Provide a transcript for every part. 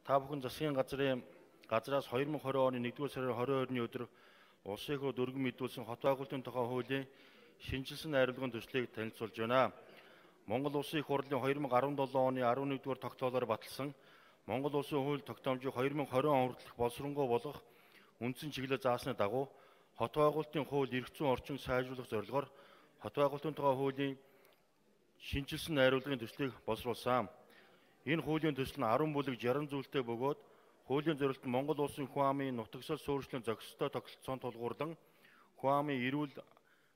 Та бүхэн засгийн газраас 2020 оны 1-р сарын 22-ны өдөр улсын их хурд өргөн мэдүүлсэн хот байгуулалтын тухай хуулийн шинжилсэн найруулгын төслийг танилцуулж байна. Монгол Улсын их хурлын 2017 оны 11-р тогтоолоор баталсан Монгол Улсын хууль тогтоомжийг 2020 он хүртэлх боловсронгуй болгох үндсэн чиглэл заасны дагуу хот байгуулалтын хууль эрх зүйн орчин сайжруулах зорилгоор хот байгуулалтын тухай хуулийн шинжилсэн найруулгын төслийг боловсруулсан. Энэ хуулийн төсөл нь 10 бүлэг 60 зүйлтэй бөгөөд хуулийн зорилт нь Монгол Улсын хүн амын нутагсал суурьшлын зохистой тогтолцоонд тулгуурлан хүн амын эрүүл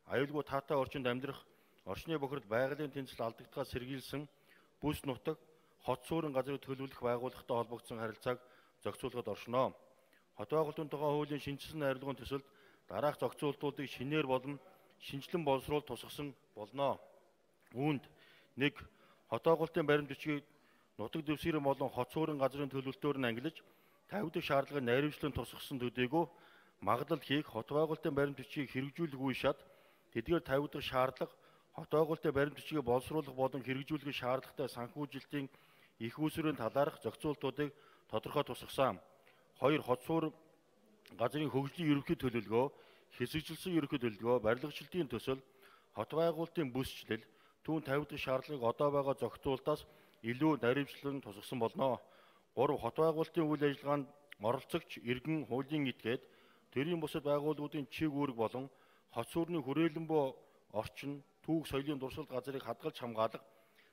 аюулгүй таатай орчинд амьдрах орчны бохирд байгалийн тэнцэл алдагдахаас сэргийлсэн бүс нутаг хот суурин газрыг төлөвлөх байгууллагатай холбогдсон харилцааг зохицуулахад оршино. Хот байгуулалтын тухай хуулийн шинжилсэн найруулгын төсөлд дараах зохицуултуудыг шинээр болон шинжилэн боловсруулалт тусгасан болно. Үүнд 1. Хот байгуулалтын баримт бичгийг нутаг дэвсгэрийн болон хот суурин газрын төлөвлөлтөөр нь ангилж 50 дахь шаардлагыг найруулчлан тусгасан төдийгүй магадлал хийх хот байгуулалтын баримт бичгийг хэрэгжүүлэх үе шат тэдгээр 50 дахь шаардлага хот байгуулалтын баримт бичгийг боловсруулах болон хэрэгжүүлэх шаардлагатай санхүүжилтийн их үүсвэрийн талаарх зохицуултуудыг тодорхой тусгасан. 2. Хот суурин газрын хөгжлийн ерөнхий төлөвлөгөө, хэсэгжилсэн ерөнхий төлөвлөгөө, барилгачлалтын төсөл, хот байгуулалтын бүсчлэл, түүн 50 дахь шаардлагыг одоо байгаа зохицуултаас илүү наривчлан тусгасан болно. 3. Хот байгуулалтын үйл ажиллагаанд оролцогч иргэн хуулийн этгээд төрийн бусад байгууллагуудын чиг үүрэг болон хот суурины хүрээлэн буй орчин, түүх соёлын дурсгал газрыг хадгалж хамгаалах,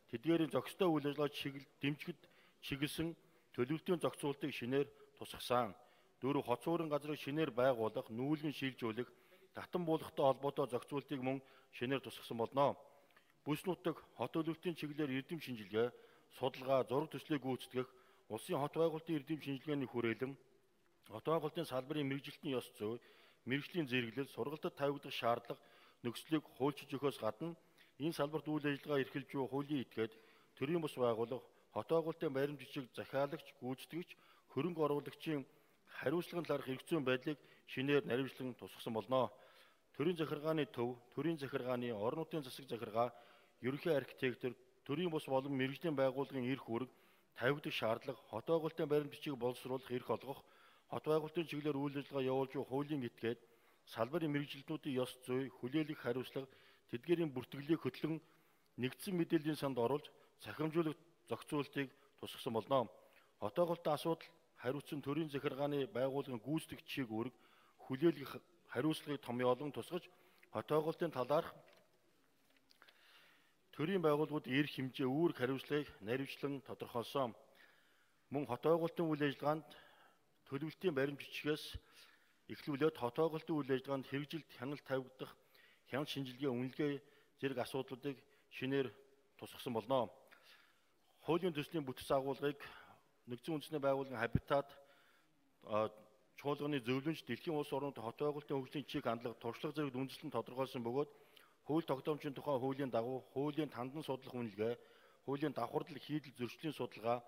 тэдгээрийн зохистой үйл ажиллагаа дэмжихэд чиглэсэн төлөвлөлтийн зохицуултыг шинээр тусгасан. 4. Хот суурин газрыг шинээр байгуулах, нүүлгэн шилжүүлэх, татан буулгахтай холбоотой зохицуултыг мөн шинээр тусгасан болно. Бүс нутаг хот төлөвлөлтийн чиглэлээр эрдэм шинжилгээ, судалгаа, зураг төслийг гүйцэтгэх, улсын хот байгуулалтын эрдэм шинжилгээний хүрээлэн, хот байгуулалтын салбарын мэрэгжилтийн ёс зүй, мэрэгжлийн зэрэглэл, сургалтад тавигдах шаардлага, нөхцөлийг хуульчилж өгөхөөс гадна энэ салбарт үйл ажиллагаа эрхэлж буй хуулийн этгээд төрийн бус байгууллага, хот байгуулалтын баримт бичиг захиалагч, гүйцэтгэгч, хөрөнгө оруулагчийн хариуцлагын талаарх эрх зүйн байдлыг шинээр наривчлан тусгасан болно. Төрийн захиргааны төв, төрийн захиргааны, орон нутгийн засаг захиргаа, ерөнхий архитектор, төрийн бус болон мэргэжлийн байгууллагын эрх үүрэг, 50 дахь шаардлага, хот байгуулалтын баримт бичгийг боловсруулах эрх олгох, хот байгуулалтын чиглэлээр үйл ажиллагаа явуулж буй хуулийн этгээд, салбарын мэргэжилтнүүдийн ёс зүй, хүлээлгэх хариуцлага, тэдгээрийн бүртгэлийг хөтлөн нэгдсэн мэдээллийн санд оруулж цахимжуулах зохицуултыг тусгасан болно. Хот байгуулалтын асуудал хариуцсан төрийн захиргааны байгууллагын гүйцэтгэх чиг үүрэг, хүлээлгэх хариуцлагыг томьёолон тусгаж, хот байгуулалтын талаарх төрийн байгууллагуудын эрх хэмжээ үүрэг хариуцлагыг наривчлан тодорхойлсон. Мөн хот байгуулалтын үйл ажиллагаанд төлөвлөлтийн баримт бичгээс эхлүүлээд хот байгуулалтын үйл ажиллагаанд хэрэгжилт хяналт тавигдах, хяналт шинжилгээ, үнэлгээ зэрэг асуудлуудыг шинээр тусгасан болно. Хуулийн төслийн бүтэц агуулгыг нэгдсэн үндэсний байгууллагын хабитат чуулганы зөвлөмж дэлхийн улс орнууд хот байгуулалтын хөгжлийн чиг хандлага туршлага зэрэг үндэслэн тодорхойлсон бөгөөд хууль тогтоомжийн тухай хуулийн дагуу хуулийн тандан судлах үнэлгээ, хуулийн давхардал хийдэл зөрчлийн судалгаа,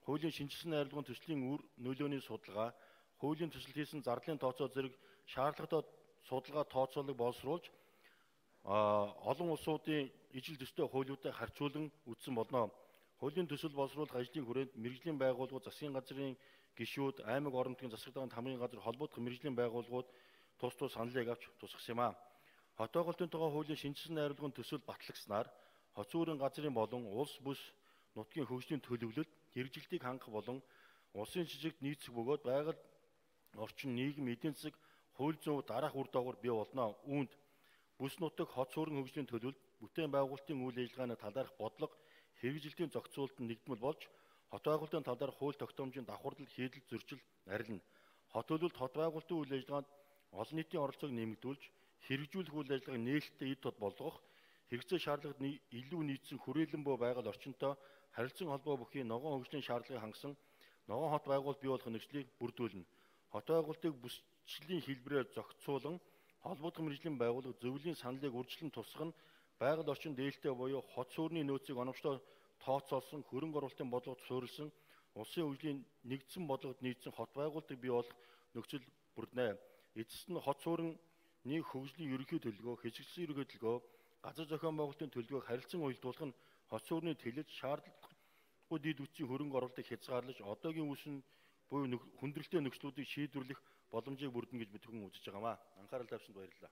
хуулийн шинжилсэн найруулгын төслийн үр нөлөөний судалгаа, хуулийн төсөл хийсэн зардлын тооцоо зэрэг шаардлагатай судалгаа тооцоолыг боловсруулж олон улсуудын ижил төстэй хуулиудыг харьцуулан үзсэн болно. Хуулийн төсөл боловсруулах ажлын хүрээнд мэргэжлийн байгууллагууд, засгийн газрын гишүүд, аймаг орон нутгийн засаг даргын хамгийн газар холбогдох мэргэжлийн байгууллагууд тус саналыг авч тусгасан юм а. Хот байгуулалтын тухай хуулийн шинжилсэн найруулгын төсөл батлагснаар хот суурин газрын болон улс бүс нутгийн хөгжлийн төлөвлөлт, хэрэгжилтийг хангах болон улсын жижигт нийцэх бөгөөд байгаль орчин, нийгэм, эдийн засаг, хууль зүйн дараах үр дагавар бий болно. Үүнд бүс нутаг хот суурин хөгжлийн төлөвлөлт, бүтээн байгуулалтын үйл ажиллагааны талаарх бодлого, хэрэгжилтийн зохицуулт нь нэгдмэл болж, хот байгуулалтын талаарх хууль тогтоомжийн давхардал, хийдэл, зөрчил арилна. Хот төлөвлөлт хот байгуулалтын үйл ажиллагаанд олон нийтийн оролцоог нэмэгдүүлж, хэрэгжүүлэх үйл ажиллагааг нээлттэй эд тод болгох, хэрэгцээ шаардлагад илүү нийцсэн хүрээлэн буй байгаль орчинтой харилцан холбоо бүхий ногоон хөгжлийн шаардлагыг хангасан ногоон хот байгуулалт бий болох нөхцөлийг бүрдүүлнэ. Хот байгуулалтыг бүсчлийн хэлбэрээр зохицуулан, холбогдох мэргэжлийн байгууллага зөвлөлийн саналыг үржилэн тусгах нь байгаль орчин дээлтэй буюу хот суурины нөөцийг оновчтой тооцоолсон, хөрөнгө оруулалтын бодлогод суурилсан, улсын хөгжлийн нэгдсэн бодлогод нийцсэн хот байгуулалтыг бий болох нөхцөл бүрднэ. Эцэст нь хот суурины хөгжлийн ерөнхий төлөвлөгөө, хэсэгчлэн ерөнхий төлөвлөгөө, газар зохион байгуулалтын төлөвлөгөөг харилцан уялдуулах нь хот суурины тэлэлт, удахгүй дид үтсийн хөрөнгө оруулалтыг хязгаарлаж одоогийн үсэн буюу хүндрэлтэй нөхцлүүдийг шийдвэрлэх боломжийг бүрдэнэ гэж бид хүн үзэж байгаамаа. Анхаарал тавьсанд баярлалаа.